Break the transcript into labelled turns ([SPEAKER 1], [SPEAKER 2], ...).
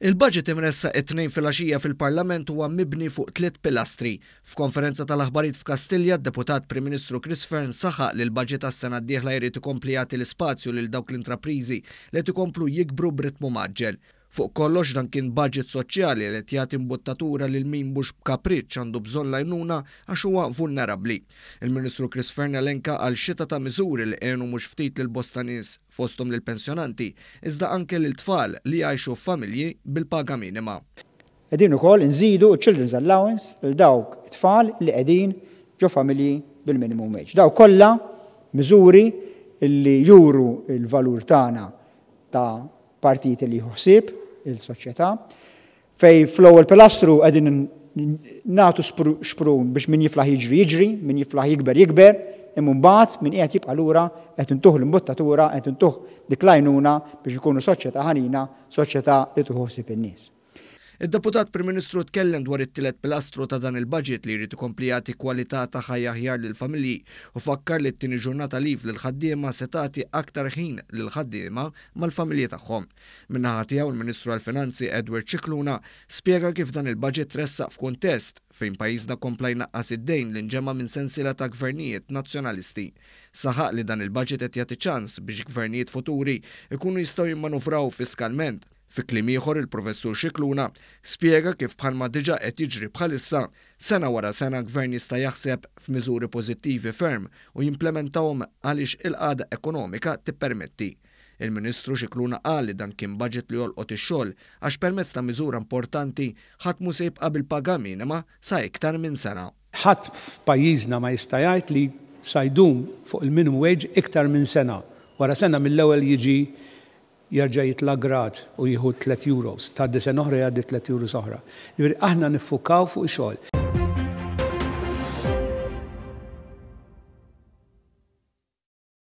[SPEAKER 1] Il-budget imressaq it-Tnejn filgħaxija fil-Parlament huwa mibni fuq tliet pilastri. F'konferenza tal-aħbarijiet f'Kastilja, d-Deputat Prim Ministru Chris Fearne saħaq li l-budget għas-sena d-dieħla jrid ikompli jagħti l-ispazju lil dawk l-intrapriżi li qed ikomplu jikbru b'ritmu mgħaġġel. Fuq kollox dan kien budget soċjali li qed jagħti imbuttatura lil min mhux b'kapriċċ għandu bżonn l-għajnuna għax huwa vulnerabbli. Il-Ministru Chris Fearne elenka għal xita ta' miżuri li għenu mhux ftit lil bosta nies, fosthom lill-pensjonanti, iżda anke lil tfal li jgħixu f'familji bil-paga minima.
[SPEAKER 2] Qegħdin ukoll inżidu ċ-Children's Allowance lil dawk it-tfal li qegħdin ġo familji bil-minimum wage. Dawk kollha miżuri li juru l-valur tagħna ta' partit li jieħu ħsieb il-soċjetà, fejn fl-ewwel pilastru qegħdin nagħtu xprun biex min jiflaħ jiġri jiġri, min jiflaħ jikber jikber, imma mbagħad min qiegħed jibqa' lura qed intuh l-imbuttatura, qed intuh dik l-għajnuna biex inkunu soċjetà ħanina, soċjetà li tieħu ħsieb in-nies.
[SPEAKER 1] Id-Deputat Prim Ministru tkellem dwar it-tielet pilastru ta' dan il-budget li jrid ikompli jagħti kwalità ta' ħajja aħjar lill-familji u fakkar li t-tieni ġurnata leave lill-ħaddiema se tagħti aktar ħin lill-ħaddiema mal-familji tagħhom. Min-naħa tiegħu l-Ministru għall-Finanzi Edward Scicluna spjega kif dan il-budget tressaq f'kuntest fejn pajjiżna kompla jnaqqas id-dejn li nġema' minn sensiela ta' gvernijiet Nazzjonalisti. Saħaq li dan il-budget qed jagħti ċans biex gvernijiet futuri jkunu jistgħu jimmanuvraw fiskalment. Fi kliem ieħor il-Professur Scicluna spjega kif bħalma diġà qed jiġri bħalissa, sena wara sena gvern jista' jaħseb f'miżuri pożittivi ferm u jimplementahom għaliex il-qagħda ekonomika tippermetti. Il-Ministru Scicluna qal li dan kien budget li jolqot ix-xogħol għax permezz ta' miżura importanti ħadd mhu se jibqa' bil-paga minima sa iktar minn sena.
[SPEAKER 3] Ħadd f'pajjiżna ma jista' jgħid li sa jdum fuq il-minimum wage iktar minn sena. Wara sena mill-ewwel jiġi jerġa' jitla' grad u jieħu tlett euros, tgħaddi sena oħra jgħaddi tlett euros oħra. Jiġifieri aħna niffukaw fuq ix-xogħol.